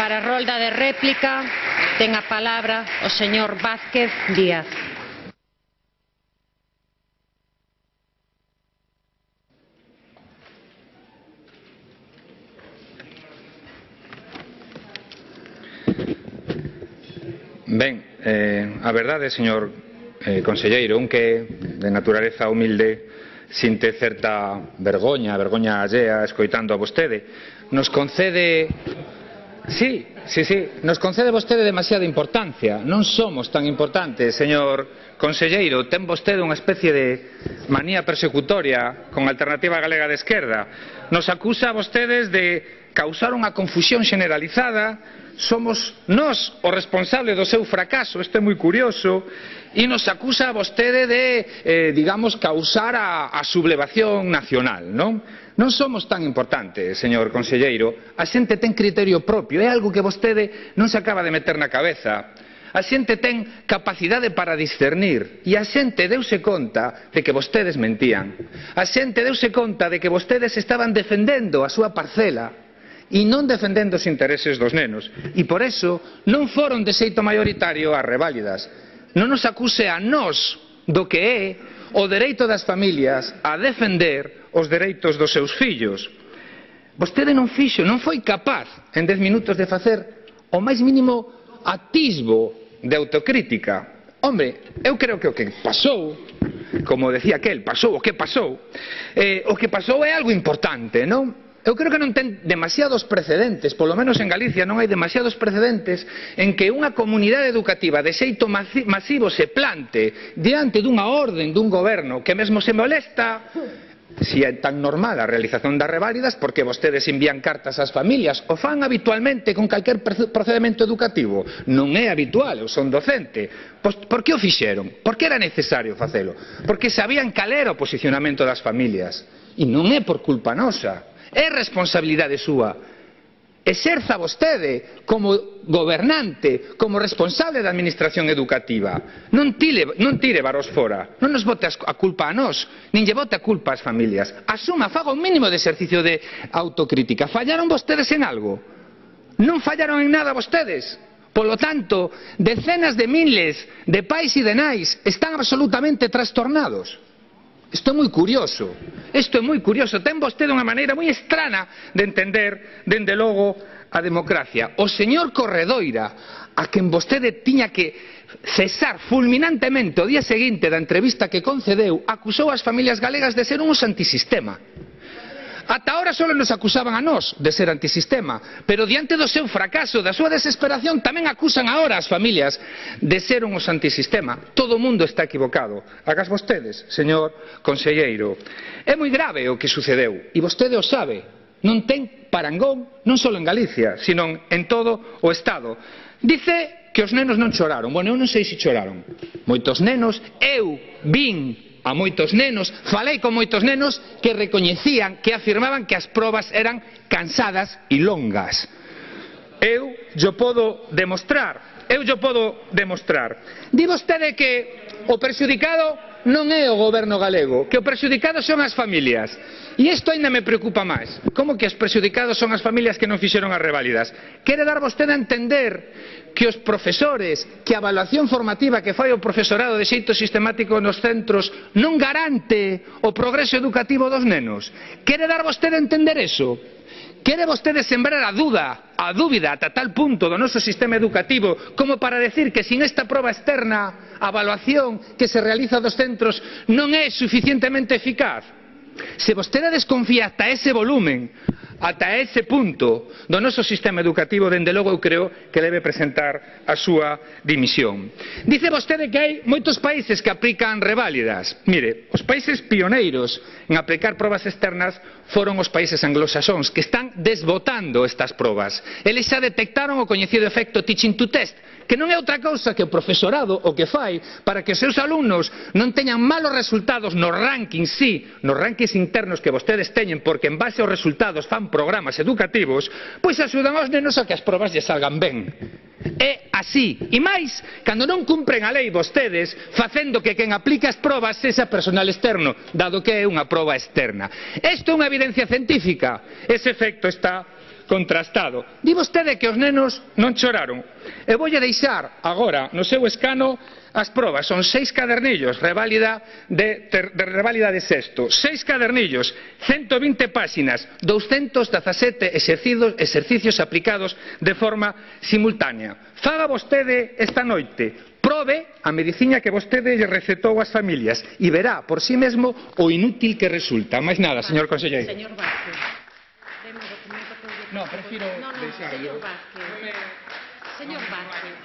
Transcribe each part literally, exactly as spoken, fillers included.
Para a rolda de réplica ten a palabra o señor Vázquez Díaz. Ben, eh, a verdade, señor eh, conselleiro, un que de naturaleza humilde sinte certa vergoña, vergoña allea escoitando a vostede, nos concede... Sí, sí, sí, nos concede vostede demasiada importancia. Non somos tan importantes, señor conselleiro. Ten vostede unha especie de manía persecutoria con a Alternativa Galega de Esquerda. Nos acusa a vostedes de causar unha confusión generalizada. Somos nós o responsable do seu fracaso, isto é moi curioso, e nos acusa a vostede de, eh, digamos, causar a, a sublevación nacional, non? Non somos tan importantes, señor conselleiro. A xente ten criterio propio, é algo que vostede non se acaba de meter na cabeza. A xente ten capacidade para discernir e a xente deuse conta de que vostedes mentían. A xente deuse conta de que vostedes estaban defendendo a súa parcela e non defendendo os intereses dos nenos. E por eso non foron de xeito maioritario as reválidas. Non nos acuse a nós do que é o dereito das familias a defender os dereitos dos seus fillos. Vostede non fixo, non foi capaz en dez minutos de facer o máis mínimo atisbo de autocrítica. Hombre, eu creo que o que pasou, como decía aquel, pasou o que pasou, eh, o que pasou é algo importante, non? Eu creo que non ten demasiados precedentes, polo menos en Galicia non hai demasiados precedentes en que unha comunidade educativa de xeito masivo se plante diante dunha orden dun goberno que mesmo se molesta. Si é tan normal a realización das reválidas, porque vostedes envían cartas ás familias, o fan habitualmente con calquer procedimento educativo. Non é habitual, eu son docente. Pois, por que o fixeron? Por que era necesario facelo? Porque sabían cal era o posicionamento das familias. E non é por culpa nosa. É responsabilidade súa. Exerza vostede como gobernante, como responsable da administración educativa. Non tire, non tire varos fora. Non nos bote a culpa a nós, nin lle bote a culpa ás familias. Asuma, faga un mínimo de exercicio de autocrítica. Fallaron vostedes en algo? Non fallaron en nada vostedes. Polo tanto, decenas de miles de pais e de nais están absolutamente trastornados. Isto é moi curioso, isto é moi curioso. Ten vostede unha maneira moi estrana de entender, dende logo, a democracia. O señor Corredoira, a quen vostede tiña que cesar fulminantemente o día seguinte da entrevista que concedeu, acusou as familias galegas de ser uns antisistema. Ata ahora só nos acusaban a nós de ser antisistema, pero diante do seu fracaso, da súa desesperación, tamén acusan agora as familias de ser uns antisistema. Todo o mundo está equivocado. Agas vostedes, señor conselleiro. É moi grave o que sucedeu, e vostede o sabe. Non ten parangón, non só en Galicia, sino en todo o Estado. Dice que os nenos non choraron. Bueno, eu non sei se choraron. Moitos nenos, eu vin a moitos nenos, falei con moitos nenos que recoñecían, que afirmaban que as probas eran cansadas e longas. Eu yo podo demostrar, eu yo podo demostrar. Di vostede que o prexudicado non é o goberno galego, que o prexudicado son as familias. E isto ainda me preocupa máis. Como que os prexudicados son as familias que non fixeron as reválidas? Quere dar vostede a entender que os profesores, que a evaluación formativa que fai o profesorado de xeito sistemático nos centros non garante o progreso educativo dos nenos? Quere dar vostede a entender eso? Quere vostede sembrar a duda, a dúbida ata tal punto do noso sistema educativo como para decir que sin esta proba externa a evaluación que se realiza dos centros non é suficientemente eficaz? Se vostede desconfía ata ese volumen, ata ese punto do noso sistema educativo, dende logo eu creo que debe presentar a súa dimisión. Dice vostede que hai moitos países que aplican reválidas. Mire, os países pioneiros en aplicar probas externas foron os países anglosaxóns, que están desbotando estas probas. Eles xa detectaron o coñecido efecto teaching to test, que non é outra cousa que o profesorado o que fai para que os seus alumnos non teñan malos resultados nos rankings, sí, nos rankings internos que vostedes teñen, porque en base aos resultados fan programas educativos, pois axudan aos nenos a que as probas lle salgan ben. É así. E máis, cando non cumpren a lei vostedes, facendo que quen aplica as probas sexa personal externo, dado que é unha proba externa. Isto é unha evidencia científica. Ese efecto está contrastado. Di vostede que os nenos non choraron. E voulle deixar agora no seu escano as probas. Son seis cadernillos, reválida de, ter, de reválida de sexto. Seis cadernillos, ciento vinte páxinas, doscientos dezasete exercidos, exercicios aplicados de forma simultánea. Faga vostede esta noite. Probe a medicina que vostede lle recetou ás familias e verá por si mesmo o inútil que resulta. Máis nada, señor conselleiro. Señor Vázquez, deme o documento que eu... No, prefiro no, no, deixarlo. señor Vázquez. Señor Vázquez.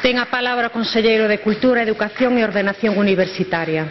Ten a palabra o conselleiro de Cultura, Educación e Ordenación Universitaria.